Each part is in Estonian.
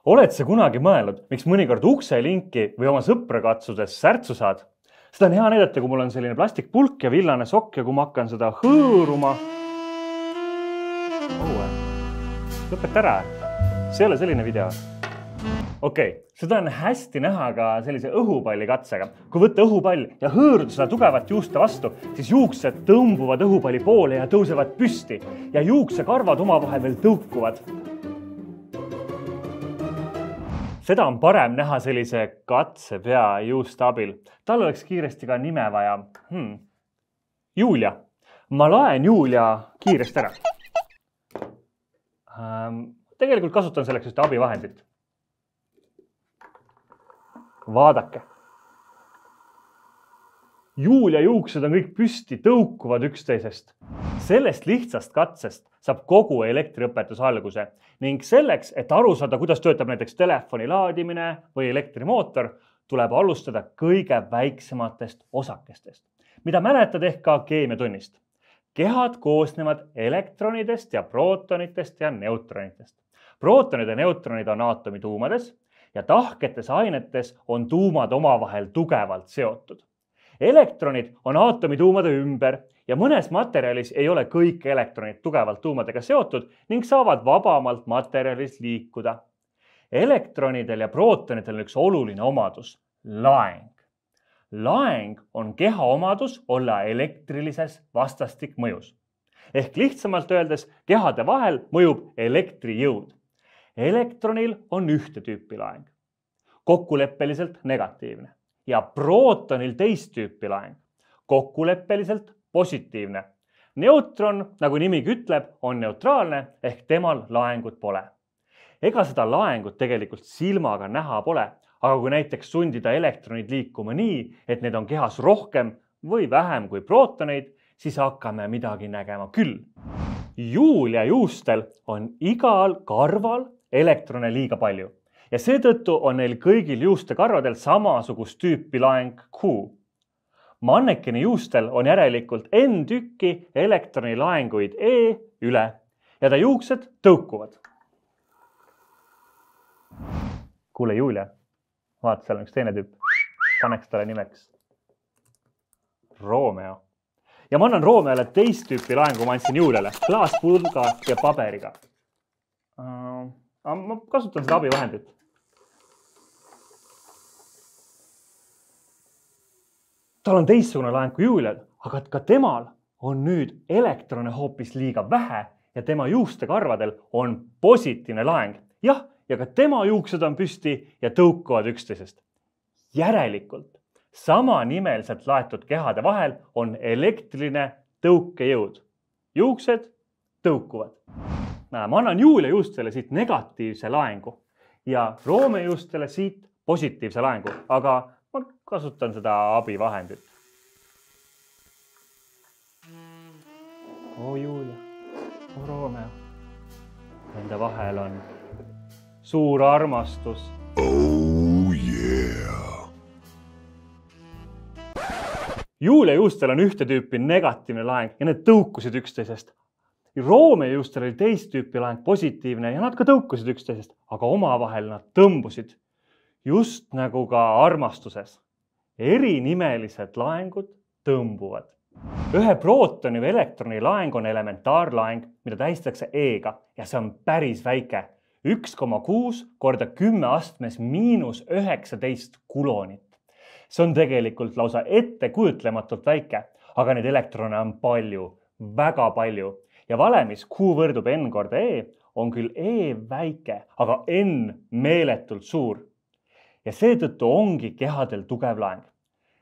Oled sa kunagi mõelnud, miks mõnikord ukselinki või oma sõpra katsudes särtsu saad? Seda on hea näidata, kui mul on selline plastikpulk ja villane sokk ja kui ma hakkan seda hõõruma. Lõpeta ära. See ei ole selline video. Okei, seda on hästi näha ka sellise õhupalli katsega. Kui võtta õhupall ja hõõruda seda tugevat juuste vastu, siis juuksed tõmbuvad õhupalli poole ja tõusevad püsti ja juuksekarvad omavahel veel tõukuvad. Seda on parem näha sellise katsepea juuste abil. Tal oleks kiiresti ka nime vaja. Julia. Ma laen Julia kiiresti ära. Tegelikult kasutan selleks just abivahendit. Vaadake. Julia juuksed on kõik püsti, tõukuvad üksteisest. Sellest lihtsast katsest saab kogu elektriõpetus alguse ning selleks, et aru saada, kuidas töötab näiteks telefoni laadimine või elektrimootor, tuleb alustada kõige väiksematest osakestest, mida mäletad ehk ka keemiatunnist. Kehad koosnevad elektronidest ja prootonitest ja neutronitest. Prootonid ja neutronid on aatomi tuumades ja tahketes ainetes on tuumad omavahel tugevalt seotud. Elektronid on aatomi tuumade ümber ja mõnes materjalis ei ole kõik elektronid tugevalt tuumadega seotud ning saavad vabamalt materjalis liikuda. Elektronidel ja prootonidel on üks oluline omadus – laeng. Laeng on keha omadus olla elektrilises vastastikmõjus. Ehk lihtsamalt öeldes, kehade vahel mõjub elektrijõud. Elektronil on ühte tüüpi laeng, kokkuleppeliselt negatiivne, ja prootonil teist tüüpi laeng, kokkuleppeliselt positiivne. Neutron, nagu nimigi ütleb, on neutraalne ehk temal laengut pole. Ega seda laengut tegelikult silmaga näha pole, aga kui näiteks sundida elektronid liikuma nii, et need on kehas rohkem või vähem kui prootoneid, siis hakkame midagi nägema küll. Julia juustel on igal karval elektrone liiga palju ja seetõttu on neil kõigil juustekarvadel samasugust tüüpi laeng Q. Mannekeni juustel on järelikult N tükki elektroni laenguid E üle ja ta juuksed tõukuvad. Kuule Julia, vaata, seal on üks teine tüüp. Paneks talle nimeks Romeo. Ja ma annan Romeole teist tüüpi laengu, ma andsin Juliale klaaspulga ja paberiga. Ma kasutan seda abivahendit. Tal on teistsugune laeng kui Julial, aga ka temal on nüüd elektrone hoopis liiga vähe ja tema juustekarvadel on positiivne laeng. Jah, ja ka tema juuksed on püsti ja tõukuvad üksteisest. Järelikult, samanimeliselt laetud kehade vahel on elektriline tõukejõud. Juuksed tõukuvad. Ma annan Julia juustele siit negatiivse laengu ja Roome juustele siit positiivse laengu, aga ma kasutan seda abivahendit. Julia, Romeo. Nende vahel on suur armastus. Oh yeah! Julia juustel on ühte tüüpi negatiivne laeng ja need tõukusid üksteisest. Roome juustel oli teist tüüpi laeng positiivne ja nad ka tõukusid üksteisest, aga omavahel nad tõmbusid. Just nagu ka armastuses. Erinimeliselt laengud tõmbuvad. Ühe prootoni või elektroni laeng on elementaarlaeng, mida tähistatakse E-ga ja see on päris väike. 1,6 korda 10 astmes -19 kulonit. See on tegelikult lausa ettekujutlematult väike, aga neid elektrone on palju, väga palju. Ja valemis Q võrdub N korda E on küll E väike, aga N meeletult suur. Ja seetõttu ongi kehadel tugev laeng.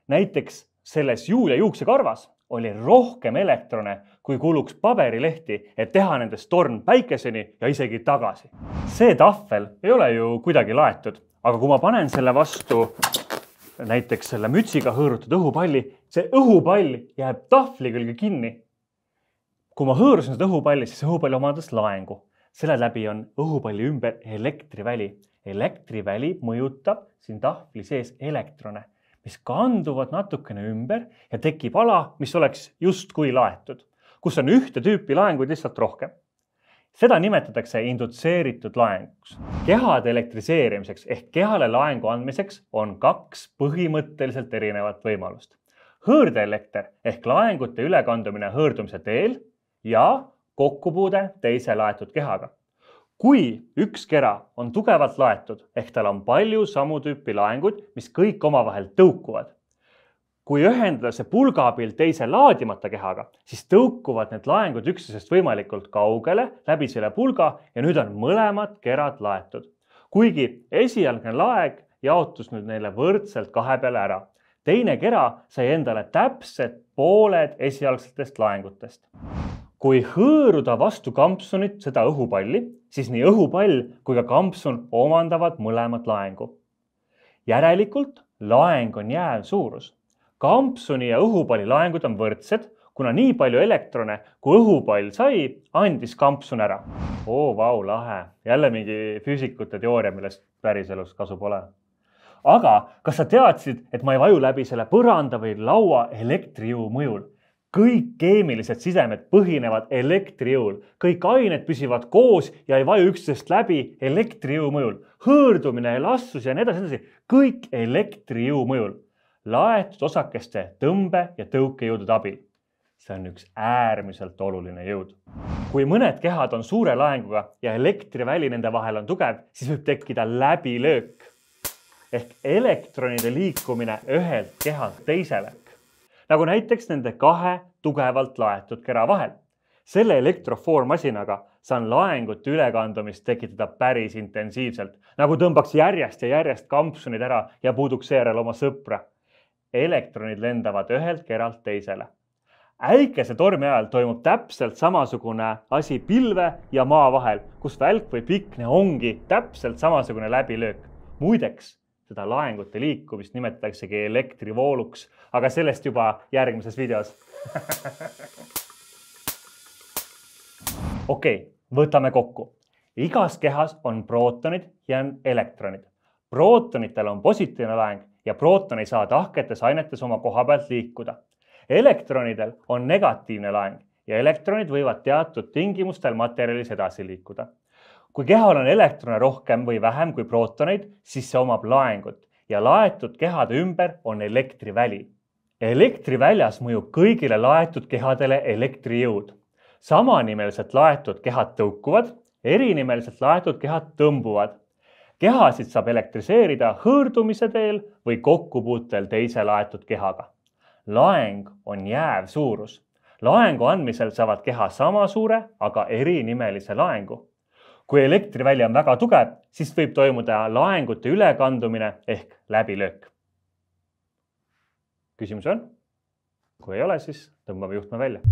Näiteks selles Julia juuksekarvas oli rohkem elektrone, kui kuluks paberilehti, et teha nendest torn päikeseni ja isegi tagasi. See tahvel ei ole ju kuidagi laetud, aga kui ma panen selle vastu näiteks selle mütsiga hõõrutud õhupalli, see õhupall jääb tahvli külge kinni. Kui ma hõõrusin seda õhupalli, siis õhupall omandas laengu. Selle läbi on õhupalli ümber elektriväli. Elektriväli mõjutab siin tahvli sees elektrone, mis kanduvad natukene ümber ja tekib ala, mis oleks justkui laetud, kus on ühte tüüpi laenguid lihtsalt rohkem. Seda nimetatakse indutseeritud laenguks. Kehade elektriseerimiseks ehk kehale laengu andmiseks on 2 põhimõtteliselt erinevat võimalust. Hõõrdeelekter ehk laengute ülekandumine hõõrdumise teel ja kokkupuude teise laetud kehaga. Kui üks kera on tugevalt laetud ehk tal on palju samu tüüpi laengud, mis kõik omavahel tõukuvad. Kui ühendada see pulga abil teise laadimata kehaga, siis tõukuvad need laengud üksteisest võimalikult kaugele läbi selle pulga ja nüüd on mõlemad kerad laetud. Kuigi esialgne laeg jaotus nüüd neile võrdselt 2 peale ära. Teine kera sai endale täpsed pooled esialgsetest laengutest. Kui hõõruda vastu kampsunit seda õhupalli, siis nii õhupall kui ka kampsun omandavad mõlemad laengu. Järelikult laeng on jääv suurus. Kampsuni ja õhupalli laengud on võrdsed, kuna nii palju elektrone, kui õhupall sai, andis kampsun ära. Vau, lahe. Jälle mingi füüsikute teooria, millest päriselus kasu pole. Aga kas sa teadsid, et ma ei vaju läbi selle põranda või laua elektrijõu mõjul? Kõik keemilised sidemed põhinevad elektrijõul. Kõik ained püsivad koos ja ei vaju üksteisest läbi elektrijõu mõjul. Hõõrdumine, elastsus ja nii edasi. Kõik elektrijõu mõjul. Laetud osakeste tõmbe- ja tõukejõudude abil. See on üks äärmiselt oluline jõud. Kui mõned kehad on suure laenguga ja elektriväli nende vahel on tugev, siis võib tekkida läbilöök ehk elektronide liikumine ühelt kehalt teisele. Nagu näiteks nende 2 tugevalt laetud kera vahel. Selle elektrofoormasinaga saan laengute ülekandumist tekitada päris intensiivselt, nagu tõmbaks järjest ja järjest kampsunid ära ja puuduks seejärel oma sõpra. Elektronid lendavad ühelt keralt teisele. Äikese tormi ajal toimub täpselt samasugune asi pilve ja maa vahel, kus välk või pikne ongi täpselt samasugune läbilöök. Muideks, seda laengute liikumist nimetataksegi elektrivooluks, aga sellest juba järgmises videos. Okei, võtame kokku. Igas kehas on prootonid ja elektronid. Prootonitel on positiivne laeng ja prooton ei saa tahketes ainetes oma koha pealt liikuda. Elektronidel on negatiivne laeng ja elektronid võivad teatud tingimustel materjalis edasi liikuda. Kui kehal on elektrone rohkem või vähem kui prootoneid, siis see omab laengut ja laetud kehade ümber on elektriväli. Elektriväljas mõjub kõigile laetud kehadele elektrijõud. Samanimelised laetud kehad tõukuvad, erinimeliselt laetud kehad tõmbuvad. Kehasid saab elektriseerida hõõrdumise teel või kokkupuutel teise laetud kehaga. Laeng on jääv suurus. Laengu andmisel saavad keha sama suure, aga erinimelise laengu. Kui elektriväli on väga tugev, siis võib toimuda laengute ülekandumine ehk läbilöök. Küsimus on? Kui ei ole, siis tõmbame juhtme välja.